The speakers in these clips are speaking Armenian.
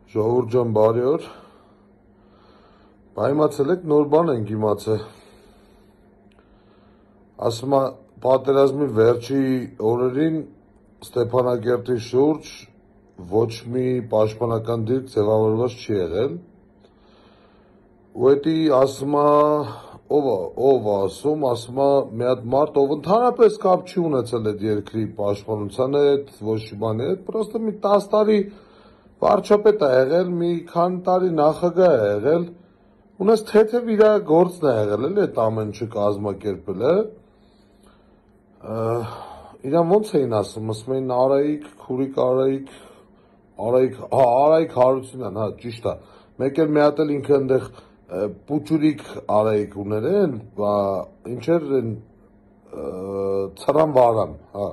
Ժողովուրդ ջան, բարի օր։ Պայմացել եք, նոր բան ենք իմացել։ Ասում է, պատերազմի վերջի օրերին Ստեփանակերտի շուրջ ոչ մի պաշտպանական դիրք ձևավորված չի եղել։ Ու էդի ասում է, ով ասում է մի հատ մարդ, ով ընդհանրապես կապ չի ունեցել այդ երկրի պաշտպանության հետ, ոչ մի բանի հետ, պրոստը մի 10 տարի վարչապետ է եղել, մի քանի տարի նախագահ է եղել, ունես թեթև իր գործն է եղել, էլի այդ ամեն ինչը կազմակերպել է։ Իրան ոնց էին ասում էին Արայիկ, Քուրիկ Արայիկ Հարությունյան, հա, ճիշտ է։ Մեկ էլ մի հատ էլ ինքը այնտեղ Պուճուրիկ Արայիկ ուներ են, ինչ էր Ցրան Վարան, հա։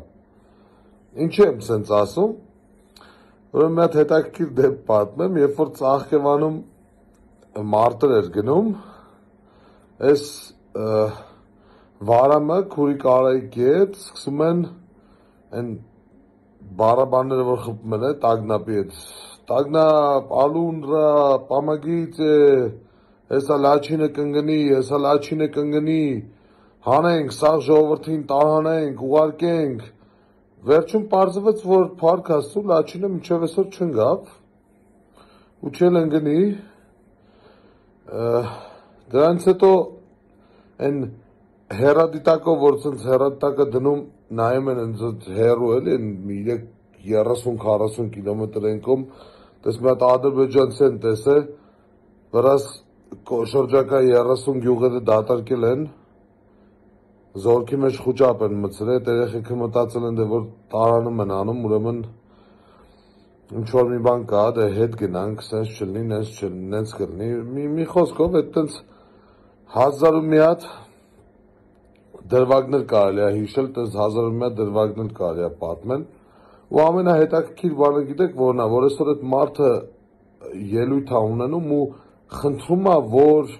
Ինչի եմ սենց ասում։ Ուրեմն մի հատ հետաքրքիր դեպք պատմեմ, երբ որ Ծաղկևանում մարտեր էր գնում, այս Վարամը Քուրիկ Արայիկի հետ սկսում են այն բարաբանները, որ խփում են տագնապի հետ, տագնապ, ալունրա, պամագիցե, հեսա լաչինը կընգնի, հանենք, սաղ ժողովրդին տարհանենք, ուղարկենք, վերջում պարզվեց, որ փառք Աստծո լաչինը մինչև այսօր չընկավ, ու չել ընկնի, դրանից հետո այն հեռադիտակով, որ ցենց հեռադիտակը դնում, նայում են հեռու էլի, 30-40 կիլոմետր ենքում, տես մի հատ ադրբեջանցի են տեսե, վրաս շրջակա 30 գյուղերը դատարկել են, զորքի մեջ խուճապ են մտցրել, այդ երեխեքը մտածել են, որ տարանում են անում, ուրեմն ինչ-որ մի բան կա, դե հետ գնանք, սենց չլինի, նենց կլինի, մի խոսքով, այդ տենց 1000 ու մի հատ դրվագներ կարելի է հիշել, տենց 1000 ու մի հատ դրվագներ կարելի է պատմել, ու ամենահետաքրքիր բանը գիտեք որն է, որ այսօր այդ մարդը ելույթ է ունենում ու խնդրում է, որ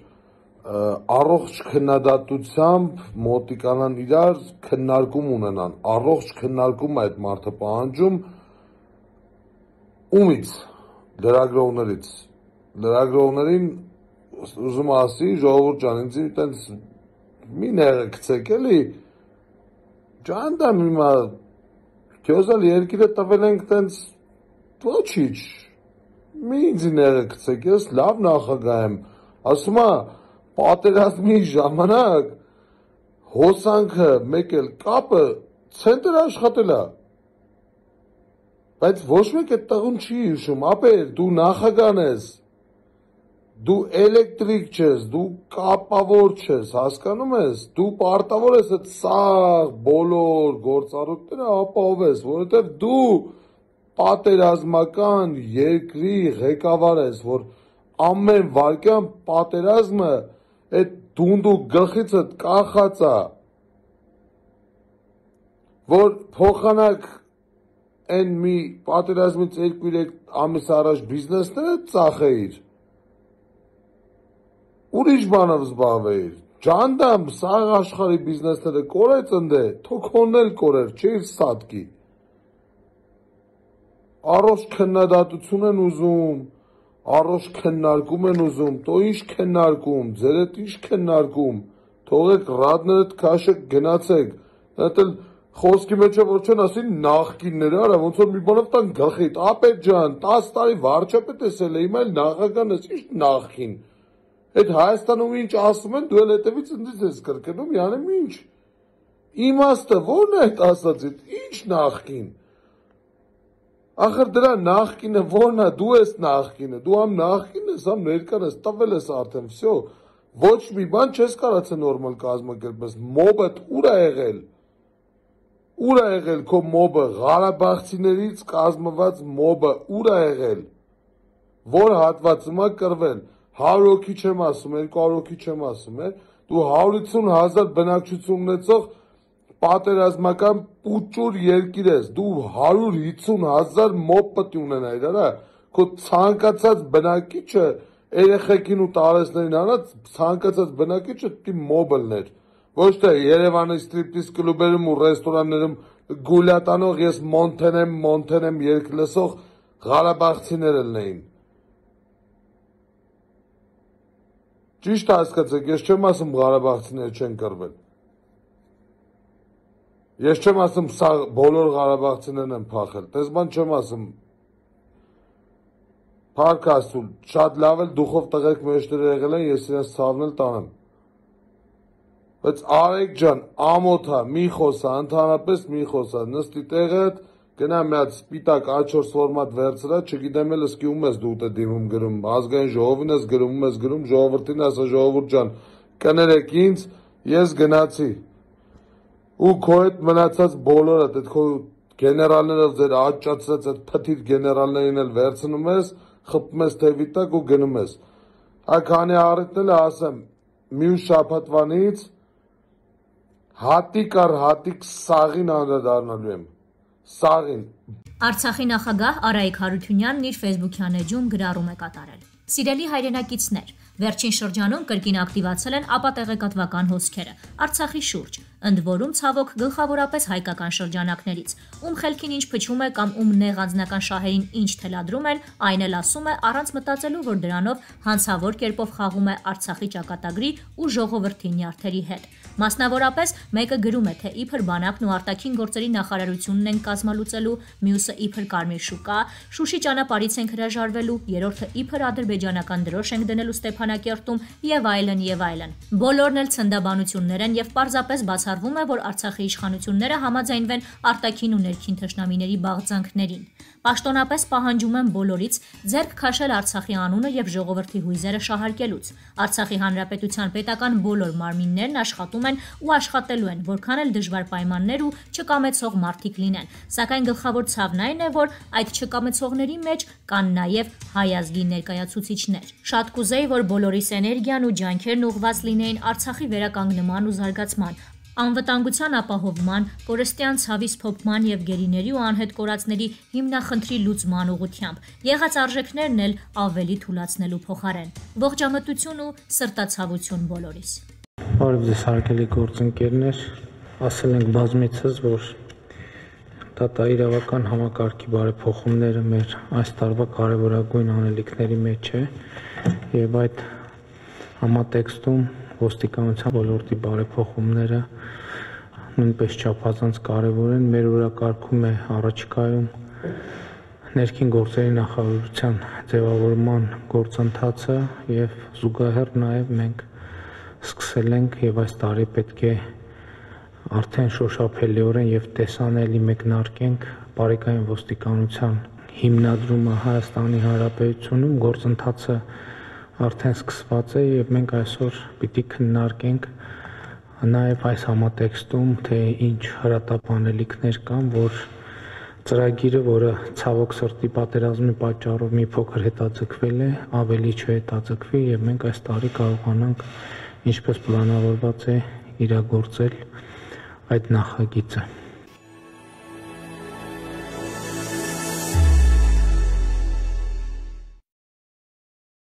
առողջ քննադատությամբ մոտիկանան իրար, քննարկում ունենան, առողջ քննարկում այդ մարդը պահանջում, ումից, լրագրողներին ուզում ասի, ժողովուրդ ջան, ինձ տենց մի նեղեցեք էլի, ջանդամ հիմա, քեզալ երկիրը տվել ենք տենց ոչիչ, մի ինձ նեղեցեք, ես լավ նախագահ եմ, ասում է, պատերազմի ժամանակ հոսանքը մեկ էլ կապը ցենտր աշխատել է, բայց ոչ մեկ այդ տղուն չի հիշում, ապեր, դու նախագահն ես, դու էլեկտրիկ չես, դու կապավոր չես, հասկանում ես, դու պարտավոր ես այդ սաղ բոլոր գործառույթները ապահովես, որովհետև դու պատերազմական երկրի ղեկավար ես, որ ամեն վայրկյան պատերազմը այդ դունդու գլխիցդ կախած է, որ փոխանակ այն մի պատերազմից 2-3 ամիս առաջ բիզնեսները ծախեիր, ուրիշ բանով զբաղվեիր, ջանդամ, սաղ աշխարհի բիզնեսները կորեց ընդե, թոքոնն էլ կորեր, չէիր սատկի, առողջ քննադատություն են ուզում, առողջ քննարկում են ուզում, տո ինչ քննարկում, ձեր հետ ինչ քննարկում, թողեք ռադներդ քաշեք գնացեք, այդ էլ խոսքի մեջ է որ չեն ասին նախկինները, արա ոնց որ մի բանով տան գլխիդ, ապետ ջան, 10 տարի վարչապետ ես ել, հիմա էլ նախագահն ես, ինչ նախկին, այդ Հայաստանում ինչ ասում են, դու էլ հետևից ընդից ես կրկնում, յանեմ ինչ, իմաստը որն է այդ ասածիդ, ինչ նախկին, ախր դրա նախկինը որն է, դու ես նախկինը, դու համ նախկին ես, համ ներկան ես, տվել ես արդեն, վсё, ոչ մի բան չես կարացել նորմալ կազմակերպես, մոբդ ուր է եղել քո մոբը, Ղարաբաղցիներից կազմված մոբը ուր է եղել, որ հատվածում է կրվել, 100 հոգի չեմ ասում, 200 հոգի չեմ ասում, դու 150,000 բնակչություն ունեցող պատերազմական պուճուր երկիր ես, դու 150,000 մոբ պետք ունենայիր, արա, քո ցանկացած բնակիչը, երեխեքին ու տարեցներին արանց, ցանկացած բնակիչը պետք է մոբ լներ, ոչ թե Երևանի ստրիպտիզ կլուբերում ու ռեստորաններում գուլյատանող ես մոնթեն եմ երգ լսող Ղարաբաղցիներ լնեին, Ճիշտ հասկացեք, ես չեմ ասում Ղարաբաղցիները չեն կռվել։ Ես չեմ ասում սա բոլոր Ղարաբաղցիներն են փախել, դες բան չեմ ասում։ Փառք Աստծո, շատ լավ էլ դուխով տղերք մեջտեղ եղել են, ես իրենց ցավն էլ տանեմ։ Բայց Արեգ ջան, ամոթա, մի խոսա, ընդհանրապես մի խոսա, նստի տեղդ, գնա մի հատ սպիտակ A4 ֆորմատ վերցրա, չգիտեմ էլ ըսկի ում ես դու ուտը դիմում գրում, ազգային ժողովին ես գրում, ժողովրդին ասա ժողովուրդ ջան, կներեք ինձ, ես գնացի։ Ու քո հետ մնացած բոլորը, այդ քո գեներալները ձեր աճացած այդ փթիր գեներալներին էլ վերցնում ես, խփում ես թևի տակ ու գնում ես։ Քանի առիթն էլ ասեմ, մյուս շաբաթվանից հատիկ առ հատիկ սաղին անդրադառնալու եմ։ Սաղին։ Արցախի նախագահ Արայիկ Հարությունյանն իր ֆեյսբուքյան էջում գրառում է կատարել։ Սիրելի հայրենակիցներ, վերջին շրջանում կրկին ակտիվացել են ապատեղեկատվական հոսքերը Արցախի շուրջ, ընդ որում ցավոք գլխավորապես հայկական շրջանակներից, ում խելքին ինչ փչում է կամ ում նեղ անձնական շահերին ինչ թելադրում են, այն էլ ասում է առանց մտածելու, որ դրանով հանցավոր կերպով խաղում է Արցախի ճակատագրի ու ժողովրդի նյարդերի հետ։ Մասնավորապես մեկը գրում է, թե իբր բանակն ու արտաքին գործերի նախարարությունն են կազմալուծելու, մյուսը իբր Կարմիր շուկա, Շուշի ճանապարհից ենք հրաժարվելու, երրորդը իբր ադրբեջանական դրոշ ենք դնելու Ստեփանակերտում եւ այլն եւ այլն։ Բոլորն էլ ցնդաբանություններ են եւ պարզապես բացառվում է, որ Արցախի իշխանությունները համաձայնվեն արտաքին ու ներքին թշնամիների բաղձանքներին։ Պաշտոնապես պահանջում են բոլորից ձեռք քաշել Արցախի անունը եւ ժողովրդի հույզերը շահարկելուց։ Արցախի հանրապետության պետական բոլոր մարմիններն աշխատում են ու աշխատելու են, որքան էլ դժվար պայմաններ ու չկամեցող մարդիկ լինեն։ Սակայն գլխավոր ցավն այն է, որ այդ չկամեցողների մեջ կան նաեւ հայ ազգի ներկայացուցիչներ։ Շատ կուզեի, որ բոլորիս էներգիան ու ջանքերն ուղղված լինեին Արցախի վերականգնման ու զարգացման, անվտանգության ապահովման, կորստյան ցավի սփոփման եւ գերիների ու անհետ կորածների հիմնախնդրի լուծման ուղղությամբ։ Եղած արժեքներն էլ ավելի թուլացնելու փոխարեն։ Ողջամտություն ու սրտացավություն բոլորիս։ Բարև ձեզ հարգելի գործընկերներ, ասել ենք բազմիցս, որ դատաիրավական համակարգի բարեփոխումները մեր այս տարվա կարևորագույն անելիքների մեջ է եւ այդ համատեքստում ոստիկանության ոլորտի բարեփոխումները նույնպես չափազանց կարևոր են։ Մեր օրակարգում է առաջիկայում ներքին գործերի նախարարության ձևավորման գործընթացը եւ զուգահեռ նաեւ մենք սկսել ենք եւ այս տարի պետք է արդեն շոշափելիորեն եւ տեսանելի մեկնարկենք բարեկային ոստիկանության հիմնադրումը Հայաստանի Հանրապետությունում գործընթացը արդեն սկսված է եւ մենք այսօր պիտի քննարկենք նաեւ այս համատեքստում թե ինչ հրատապանելիքներ կան, որ ծրագիրը, որը ցավոք սրտի պատերազմի պատճառով մի փոքր հետաձգվել է, ավելի չհետաձգվի եւ մենք այս տարի կարողանանք ինչպես պլանավորված է իրագործել այդ նախագիծը։